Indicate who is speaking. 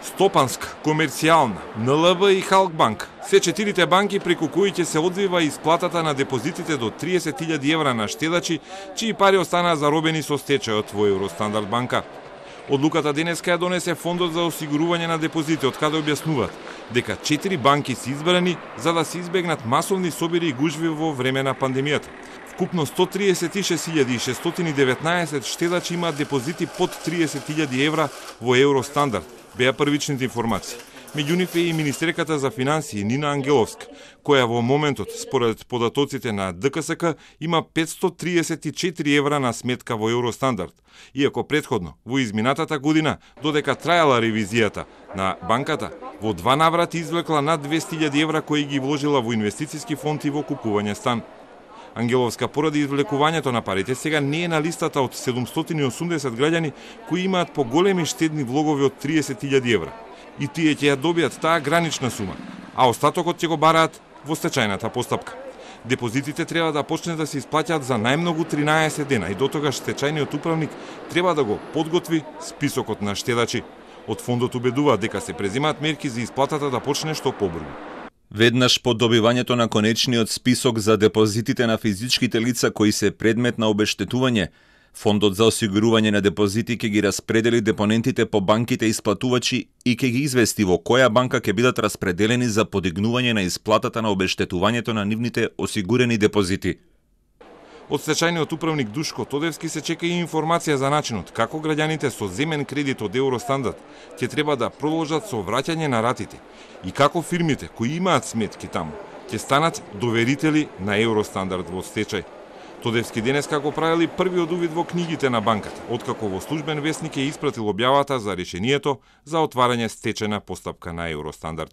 Speaker 1: Стопанска, Комерцијална, НЛБ и Халкбанк, се четирите банки преку кои ќе се одвива исплатата на депозитите до 30.000 евра на штедачи, чии пари останаа заробени со стечајот во Евростандард банка. Одлуката денеска ја донесе Фондот за осигурување на депозити, од каде објаснуваат дека 4 банки се избрани за да се избегнат масовни собири и гужви во време на пандемијата. Вкупно 136.619 штедачи имаат депозити под 30.000 евра во Евростандард, беа првичните информации. Меѓу нив е и министерката за финансии Нина Ангеловска, која во моментот, според податоците на ДКСК, има 534 евра на сметка во Евростандард. Иако предходно, во изминатата година, додека трајала ревизијата на банката, во 2 наврати извлекла над 200.000 евра кои ги вложила во инвестициски фонд и во купување стан. Ангеловска поради извлекувањето на парите сега не е на листата од 780 граѓани кои имаат поголеми штедни влогови од 30.000 евра. И тие ќе ја добијат таа гранична сума, а остатокот ќе го бараат во стечајната постапка. Депозитите треба да почнат да се исплаќаат за најмногу 13 дена и дотогаш стечајниот управник треба да го подготви списокот на штедачи. Од фондот убедуваат дека се преземаат мерки за исплатата да почне што побрзо.
Speaker 2: Веднаш по добивањето на конечниот список за депозитите на физичките лица кои се предмет на обештетување, Фондот за осигурување на депозити ќе ги распредели депонентите по банките исплатувачи и ќе ги извести во која банка ќе бидат распределени за подигнување на исплатата на обештетувањето на нивните осигурени депозити.
Speaker 1: Од стечајниот управник Душко Тодевски се чека и информација за начинот како граѓаните со земен кредит од Евростандард ќе треба да продолжат со враќање на ратите и како фирмите кои имаат сметки таму ќе станат доверители на Евростандард во стечај. Тодевски денеска го правили првиот увид во книгите на банката, откако во службен весник е испратил објавата за решението за отварање стечајна постапка на Евростандард.